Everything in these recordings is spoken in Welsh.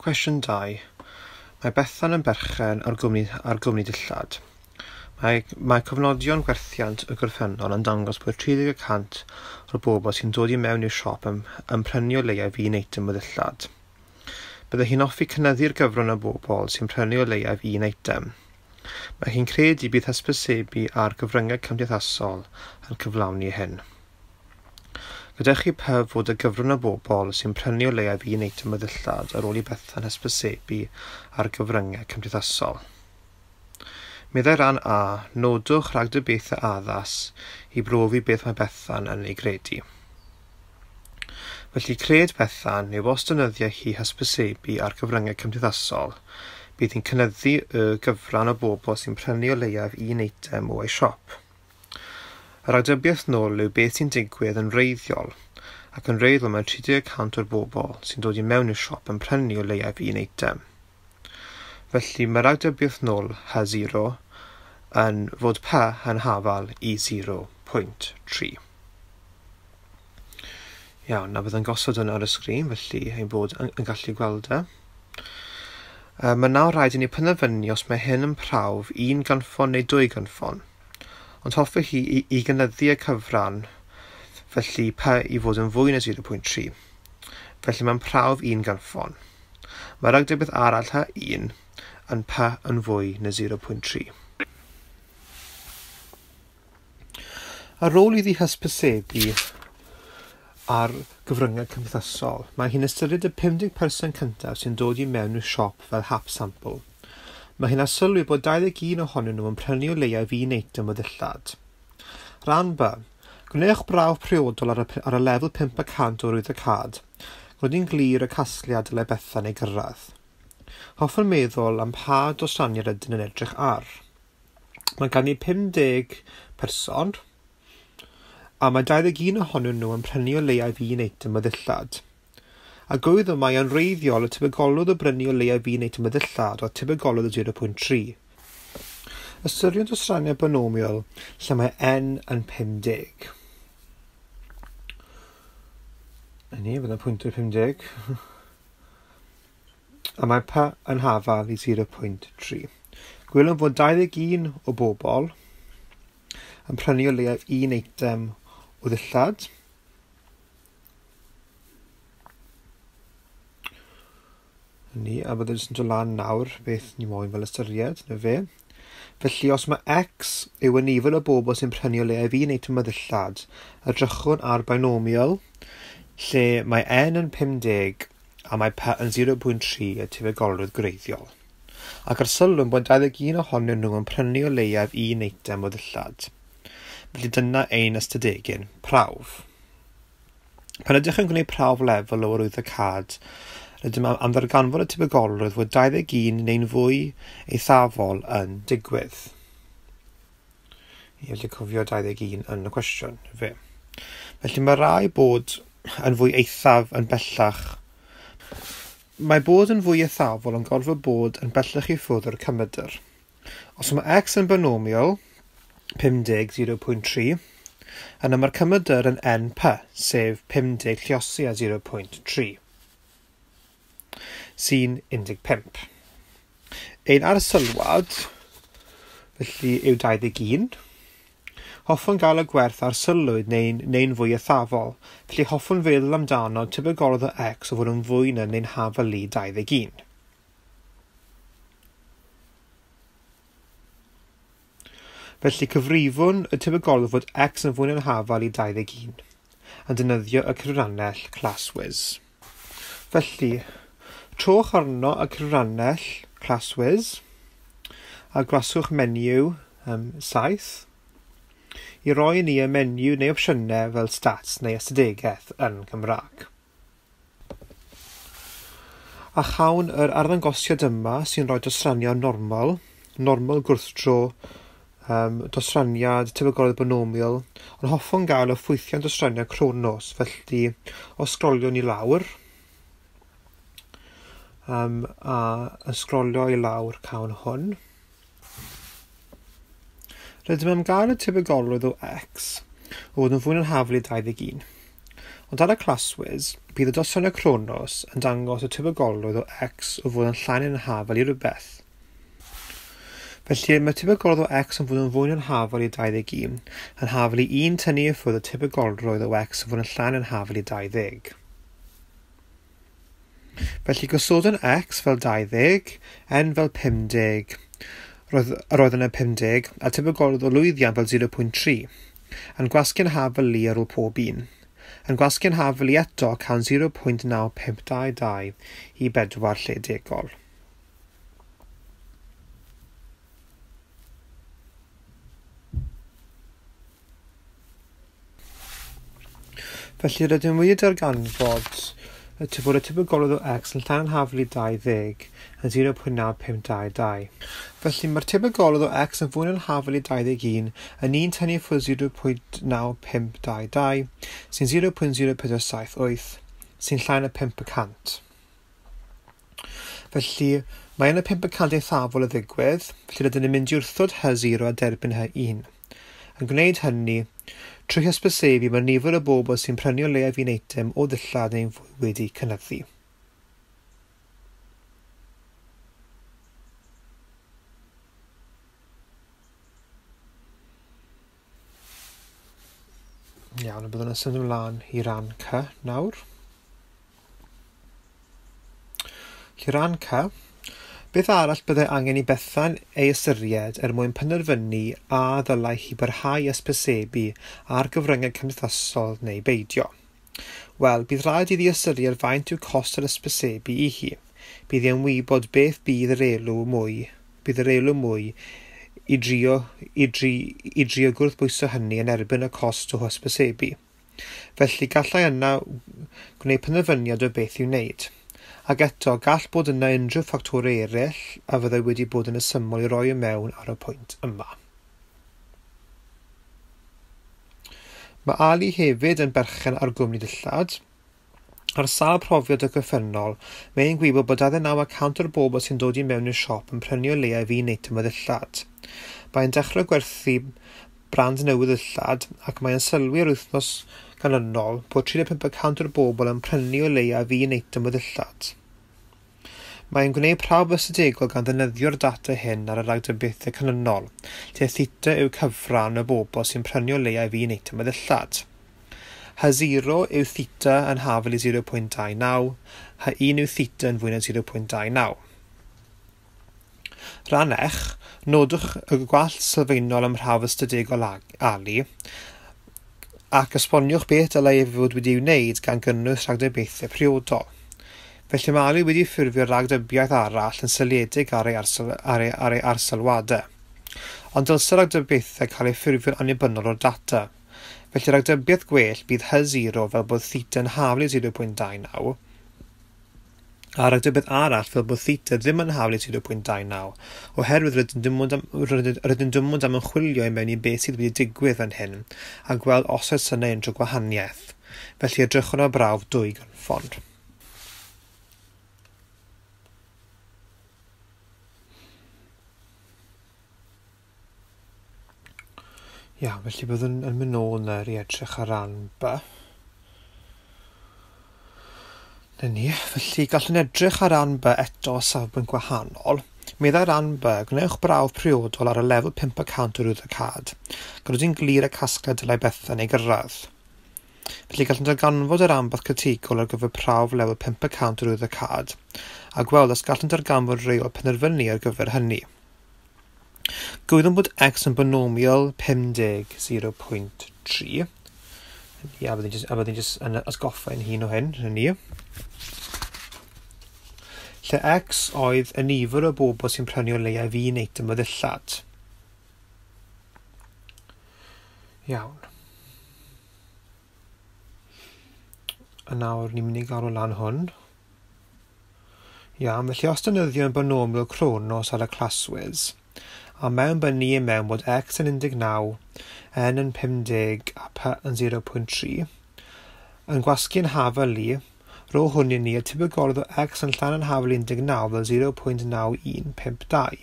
Cwestiwn 2. Mae Bethan yn berchen ar gwmni dillad. Mae cofnodion gwerthiant y gorffennol yn dangos bod 30% o'r bobl sy'n dod i mewn i'r siop yn prynu o leiaf un eitem o ddillad. Byddai hi'n hoffi cynyddu'r gyfran o bobl sy'n prynu o leiaf un eitem. Mae hi'n credu bydd hysbysebu ar gyfryngau cymdeithasol yn cyflawni hyn. Gadewch i P fod y gyfran o bobl sy'n prynu o leiaf un eitem o ddillad ar ôl i Bethan hysbysebu ar gyfryngau cymdeithasol. Meddai rhan A, nodwch ragdybiaethau addas i brofi beth mae Bethan yn ei gredu. Felly cred Bethan yw os defnyddia hi hysbysebu ar gyfryngau cymdeithasol, bydd hi'n cynyddu y gyfran o bobl sy'n prynu o leiaf un eitem o ei siop. Yr ragdybiaeth nôl yw beth sy'n digwydd yn wreiddiol, ac yn wreiddiol mae 30% o'r bobl sy'n dod i mewn i'r siop yn prynu o leiaf un eitem. Felly mae ragdybiaeth nôl H0 yn fod P yn hafal i 0.3. Iawn, a bydd yn gosod hwn ar y sgrin, felly ein bod yn gallu gweld e. Mae nawr rhaid i ni penderfynu os mae hyn yn prawf 1 gynffon neu 2 gynffon. Ond hoffech chi i gynyddu y cyfran, felly P i fod yn fwy na 0.3. Felly mae'n prawf 1 gynffon. Mae ragdybiaeth arall H1 yn P yn fwy na 0.3. Ar ôl iddi hysbysebu ar gyfryngau cymdeithasol, mae hi'n ystyried y 50% cyntaf sy'n dod i mewn i'r siop fel hap sample. Mae hi'n arsylwi bod 21 ohonyn nhw yn prynu o leiaf un eitem o ddillad. Rhan B. Gwnewch brawf priodol ar y lefel 5% o arwyddocâd. Gwneud glir y casgliad dylai Bethan ei gyrraedd. Hoffwn meddwl am pa dosraniad ydyn yn edrych ar. Mae gan i 50 person, a mae 21 ohonyn nhw yn prynu o leiaf un eitem o ddillad. A gwyddwn mai yn wreiddiol y tebygolrwydd o brynu o leiaf un eitem o ddillad oedd tebygolrwydd o 0.3. Ystyriwn dosraniad binomial lle mae n yn 50. A ni, byddai'n pwyntio 50. A mae P yn hafal i 0.3. Gwelwn fod 21 o bobl yn prynu o leiaf un eitem o ddillad. Ni, a byddai jyst yn dod lan nawr beth ni moyn fel ystyried, na fe. Felly os mae x yw y nifer o bobl sy'n prynu o leiaf un eitem o ddillad, edrychwn ar binomial lle mae n yn 50 a mae p yn 0.3 y tebygolrwydd gwreiddiol. Ac ar sylwn bod 21 ohonyn nhw yn prynu o leiaf un eitem o ddillad. Felly dyna ein ystadegyn prawf. Pan ydych yn gwneud prawf lefel o arwyddocâd, rydym am ddarganfod y tebygolrwydd fod 21 neu'n fwy eithafol yn digwydd. I allu cofio 21 yn y cwestiwn, fe. Felly mae rai bod yn fwy eithaf yn bellach. Mae bod yn fwy eithafol yn gorfod bod yn bellach i ffwrdd o'r cymydr. Os mae x yn binomial 50 0.3, yna mae'r cymydr yn np, sef 50 lliosi a 0.3. Sy'n 15. Ein arsylwad, felly, yw 21. Hoffwn gael y gwerth arsylwyd neu'n fwy eithafol, felly hoffwn feddwl amdano tebygolrwydd o x o fod yn fwy na neu'n hafal i 21. Felly cyfrifwn y tebygolrwydd fod x yn fwy na'n hafal i 21, yn defnyddio y cyfrannell ClassWiz. Felly, trowch arno y cyfrannell ClassWiz a gwasgwch menu 7 i roi ni y menu neu opsiynau fel stats neu ystadegaeth yn Gymraeg. A chawn yr arddangosiad yma sy'n rhoi dosraniad normal gwrthdro, dosraniad tebygolrwydd binomial, ond hoffwn gael y ffwythiant dosraniad Kronos, felly os sgroliwn i lawr, a yn sgrolio i lawr cawn hwn. Rydym am gael y tebygolrwydd o x o fod yn fwy na'n hafal i 21. Ond ar y ClassWiz, bydd y dosrannau Chronos yn dangos y tebygolrwydd o x o fod yn llai neu'n hafal i rywbeth. Felly mae tebygolrwydd o x yn fod yn fwy neu'n hafal i 21, yn hafal i 1 tynnu i ffwrdd y tebygolrwydd o x yn fod yn llai neu'n hafal i 20. Felly gosodwn x fel 20, n fel 50, roedd yna 50, a tebygolrwydd o lwyddiant fel 0.3, yn gwasgu'n hafal i ar ôl pob un. Yn gwasgu'n hafal i eto cawn 0.9522 i 4 lle degol. Felly rydym wedi darganfod fod y tebygolrwydd o x yn llai na'n hafal i 20 yn 0.9522. Felly mae'r tebygolrwydd o x yn fwy na'n hafal i 21 yn 1 tynnu ffwrdd 0.9522 sy'n 0.0478 sy'n llai na 5%. Felly mae yna 5% eithafol o ddigwydd, felly rydyn ni'n mynd i wrthod H0 a derbyn H1. Yn gwneud hynny, trwy hysbysebu mae nifer o bobl sy'n prynu o leiaf un eitem o ddillad neu'n fwy wedi cynyddu. Iawn, a byddwn yn symud ymlaen i ran C nawr. Felly ran C, beth arall byddai angen i Bethan ei ystyried er mwyn penderfynu a ddylai hi barhau hysbysebu ar gyfryngau cymdeithasol neu beidio? Wel, bydd rhaid iddi ystyried faint yw cost yr hysbysebu i hi. Bydd hi'n wybod beth bydd yr elw mwy i drio gwrthbwyso hynny yn erbyn y cost o hysbysebu. Felly gallai yna gwneud penderfyniad o beth i'w wneud. Ac eto, gall bod yna unrhyw ffactorau eraill a fyddai wedi bod yn ysymol i roi i mewn ar y pwynt yma. Mae Ali hefyd yn berchen ar gwmni dillad. Ar sawl profiad y gorffennol, mae'n gwybod bod 29% o'r bobl sy'n dod i mewn i'r siop yn prynu o leiaf un eitem o ddillad. Mae'n dechrau gwerthu brand newydd ddillad ac mae'n sylwi yr wythnos ganlynol bod 35% o'r bobl yn prynu o leiaf un eitem o ddillad. Mae'n gwneud prawf ystadegol gan ddefnyddio'r data hyn ar y ragdybiaethau canlynol, lle theta yw cyfran y bobl sy'n prynu o leiaf un eitem o ddillad. H0 yw theta yn hafal i 0.29, H1 yw theta yn fwy na 0.29. Rhan ech, nodwch y gwall sylfaenol ym mhrawf ystadegol Ali ac esboniwch beth dylai ef fod wedi'i wneud gan gynnwys rhagdybiaethau priodol. Felly mae Ali wedi ffurfio ragdybiaeth arall yn seiliedig ar ei arsylwadau. Ond dylse ragdybiaethau cael eu ffurfio'n annibynnol o'r data. Felly ragdybiaeth gwell bydd H0 fel bod theta yn hafal i 0.29 a ragdybiaeth arall fel bod theta ddim yn hafal i 0.29 oherwydd rydym dim ond am ymchwilio i mewn i beth sydd wedi digwydd fan hyn a gweld os oes yna unrhyw gwahaniaeth. Felly edrychwn ar brawf dwy gynffon. Iawn, felly byddwn yn mynd nôl nawr i edrych ar ran B. Na ni, felly gallwn edrych ar ran B eto o safbwynt gwahanol. Meddai ran B, gwnewch brawf priodol ar y lefel 5% o arwyddocâd, gan yn glir y casgliad dylai Bethan ei gyrraedd. Felly gallwn darganfod yr ambath critigol ar gyfer prawf lefel 5% o arwyddocâd, a gweld os gallwn darganfod reol penderfynu ar gyfer hynny. Gwyddwn bod x yn binomial 50 0.3. Ia, byddwn jyst yn atgoffa ein hun o hyn, hynny. Lle x oedd y nifer o bobl sy'n prynu o leiaf un eitem o ddillad. Iawn. A nawr ni'n mynd i galw lan hwn. Iawn, felly os defnyddio yn binomial Chronos ar y ClassWiz, a mewn bynnu i mewn bod x yn 19, n yn 50 a p yn 0.3, yn gwasgu'n hafal i, rho hwn i ni y tebygolrwydd o x yn llai na'n hafal 19 fel 0.9152.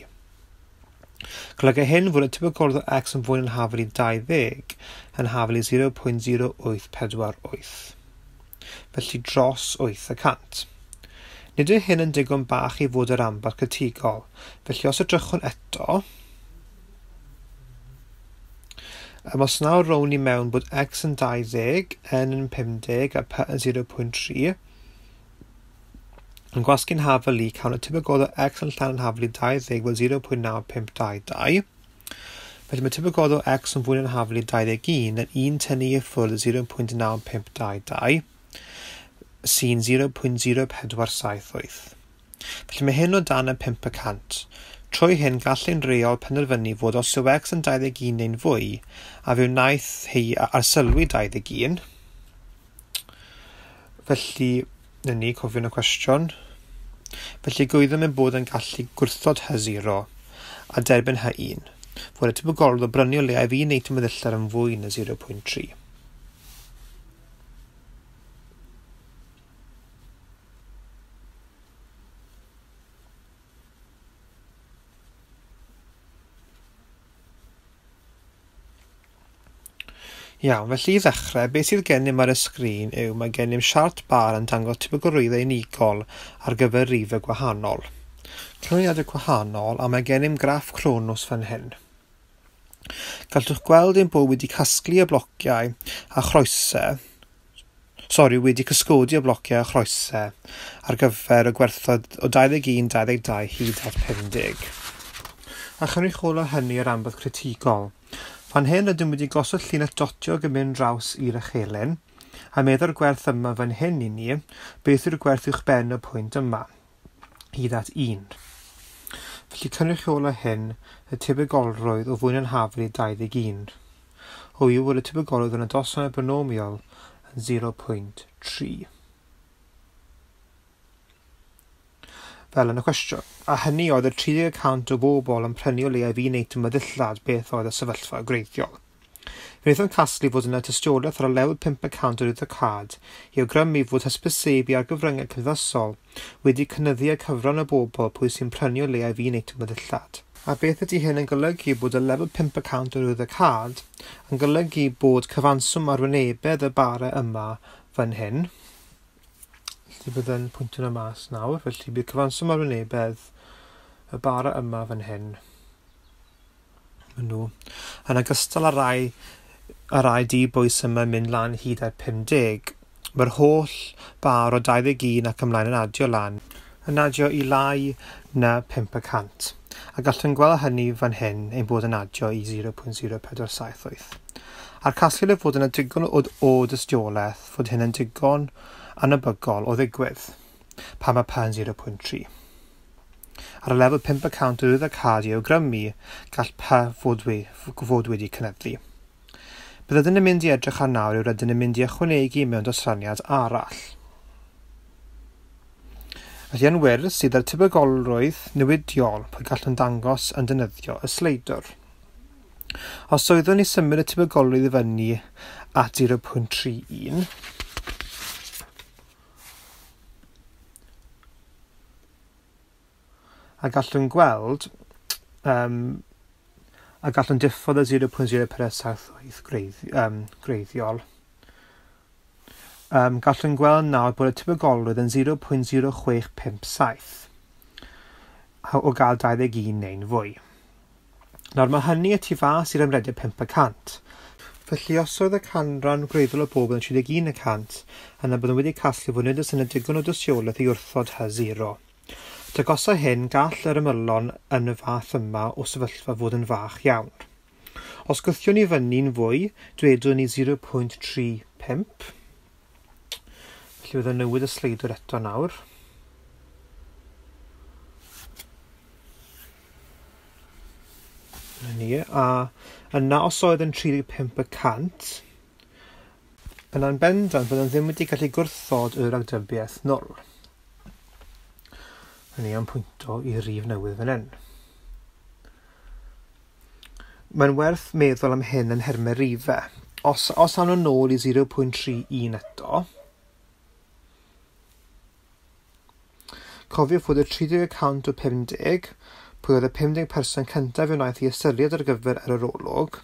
Golyga hyn fod y tebygolrwydd o x yn fwy na'n hafal i 20 yn hafal i 0.0848. felly dros 8%. Nid yw hyn yn digon bach i fod yr ranbarth critigol, felly os edrychwn eto, os nawr rown ni mewn bod x yn 20, n yn 50 a p yn 0.3, yn gwasgu'n hafal i, cawn y tebygol o x yn llan yn hafal i 20 fel 0.9522. Felly mae tebygol o x yn fwy na'n hafal i 21 yn 1 tynnu i ffwrdd 0.9522 sy'n 0.0478. Felly mae hyn o dan y 5%. Trwy hyn gall ein reol penderfynu fod os yw x yn 21 neu'n fwy, a fe wnaeth hi arsylwi 21, felly, na ni, cofiwn y cwestiwn, felly gwyddom ein bod yn gallu gwrthod H0 a derbyn H1, fod y tebygolrwydd o brynu o leiaf un eitem o ddillad yn fwy na 0.3. Iawn, felly i ddechrau, beth sydd gennym ar y sgrin yw mae gennym siart bar yn dangos tebygolrwyddau unigol ar gyfer rifau gwahanol. Canlyniadau gwahanol, a mae gennym graff Chronos fan hyn. Gallwch gweld ein bod wedi casglu y blociau a chroesau, wedi cysgodi y blociau a chroesau ar gyfer y gwerthoedd o 21, 22 hyd at 50. A chynrychiolo hynny ar ranbarth critigol. Fan hyn rydym wedi gosod llinell dotiog yn mynd draws i'r echelin, a meddwl gwerth yma fan hyn i ni, beth yw'r gwerth uwchben y pwynt yma, hyd at 1. Felly cynrychiolo hyn y tebygolrwydd o fwy na'n hafal i 21. O yw bod y tebygolrwydd yn y dosran binomial yn 0.3. Fel yn y cwestiwn, a hynny oedd y 30% o bobl yn prynu o leiaf un eitem o ddillad beth oedd y sefyllfa gwreiddiol. Fe wnaethom casglu fod yna tystiolaeth ar y lefel 5% o'r arwyddocâd i awgrymu fod hysbysebu ar gyfryngau cymdeithasol wedi cynyddu y cyfran o bobl pwy sy'n prynu o leiaf un eitem o ddillad. A beth ydy hyn yn golygu bod y lefel 5% o'r arwyddocâd yn golygu bod cyfanswm arwynebedd y bara yma fan hyn. Felly bydd yn pwyntio yna mas nawr, felly bydd cyfanswm arwynebedd y bara yma fan hyn. Maen nhw. Yn ogystal â rai di-bwys yma yn mynd lan hyd at 50, mae'r holl bar o 21 ac ymlaen yn adio lan, yn adio i lai na 5%. A gallwn gweld hynny fan hyn ein bod yn adio i 0.0478. A'r casgliad yw fod yna digon o dystiolaeth fod hyn yn digon anebygol o ddigwydd, pan mae p yn 0.3. Ar y lefel 5% o arwyddocâd i awgrymu, gall p fod wedi cynyddu. Beth ydyn yn mynd i edrych ar nawr yw rydyn yn mynd i ychwanegu mewn dosraniad arall. Felly yn wir sydd â'r tebygolrwydd newidiol pwy gallwn dangos yn defnyddio y sleidwr. Os oeddwn ni symud y tebygolrwydd i fyny at 0.31, a gallwn gweld, a gallwn diffodd y 0.0478 gwreiddiol. Gallwn gweld nawr bod y tebygolrwydd yn 0.0657 o gael 21 neu'n fwy. Nawr mae hynny y tu fas i'r ymrediad 5%. Felly os oedd y canran gwreiddiol o bobl yn 31%, yna byddwn wedi casglu fod nid oes yna digon o dystiolaeth i wrthod H0. Dagosa hyn, gall yr ymylon yn y fath yma o sefyllfa fod yn fach iawn. Os gwthiwn ni fyny'n fwy, dwedwn ni 0.35. Felly byddwn newid y sleidwr eto nawr. Na ni, a yna os oedd yn 35%, yna'n bendant byddwn ddim wedi gallu gwrthod yr ragdybiaeth nôl. Ni am pwynto i rif newydd fan hyn. Mae'n werth meddwl am hyn yn nhermau rifau. Os awn nhw nôl i 0.31 eto, cofiwch fod y 30% o 50, pwy oedd y 50% cyntaf i wnaeth i ystyried ar gyfer yr arolwg,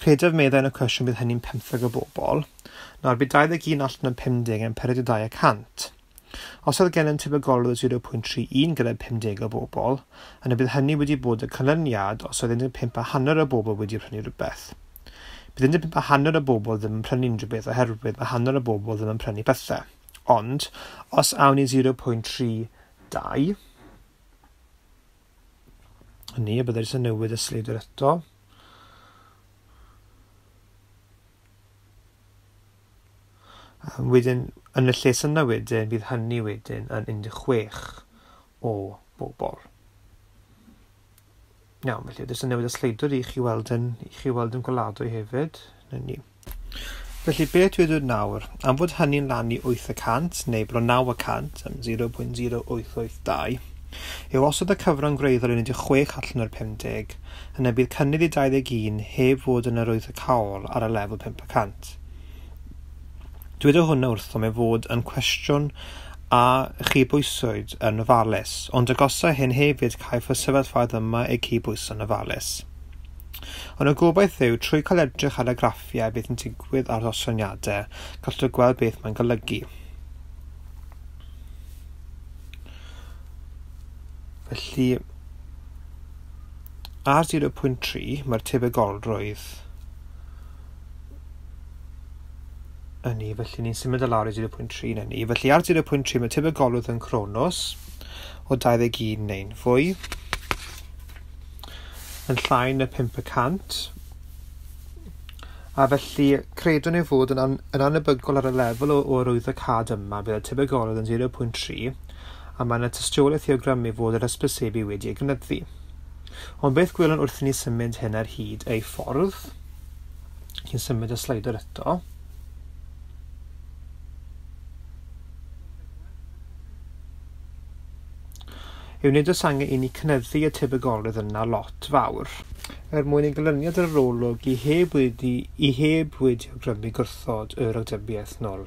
Credaf meddai yn y cwestiwn bydd hynny'n 15 o bobl. Nawr bydd 21 allan o 50 yn 42%. Os oedd gennym tebygolrwydd 0.31 gyda 50 o bobl, yna bydd hynny wedi bod y canlyniad os oedd 15.5 o bobl wedi prynu rhywbeth. Bydd 15.5 o bobl ddim yn prynu unrhyw beth oherwydd mae hanner o bobl ddim yn prynu pethau. Ond, os awn ni 0.32, hynny, y byddai jyst yn newid y sleidwr eto. Wedyn, yn y lle yna wedyn, bydd hynny wedyn yn 16 o bobl. Iawn, felly jyst yn newid y sleidwr i chi weld yn gweladwy hefyd. Na ni. Felly beth dwi dweud nawr, am fod hynny'n lan i 8% neu bron 9% am 0.0882, yw os oedd y cyfran gwreiddiol yn 16 allan o'r 50, yna bydd cynnydd i 21 heb fod yn arwyddocaol ar y lefel 5%. Dweud hwnna wrtho ei fod yn cwestiwn a chydbwyswyd yn ofalus, ond agosa hyn hefyd caiff y sefyllfaoedd yma eu cydbwyso'n ofalus. Ond y gobaith yw, trwy cael edrych ar y graffiau beth yn digwydd ar dosraniadau, gallwch gweld beth mae'n golygu. Felly, ar 0.3 mae'r tebygolrwydd ynni, felly ni'n symud y lawr i 0.3 na ni. Felly ar 0.3 mae tebygolrwydd yn Cronos o 21 neu'n fwy, yn llai na 5%, a felly credwn ei fod yn anebygol ar y lefel o arwyddocâd yma, bydd y tebygolrwydd yn 0.3, a mae yna tystiolaeth i awgrymu fod yr hysbysebu wedi ei gynyddu. Ond beth gwelwn wrth i ni symud hyn ar hyd ei ffordd, chi'n symud y slider eto, yw nid oes angen i ni cynyddu y tebygolrwydd yna lot fawr, er mwyn i ganlyniad yr arolwg i heb wedi awgrymu gwrthod y ragdybiaeth nôl.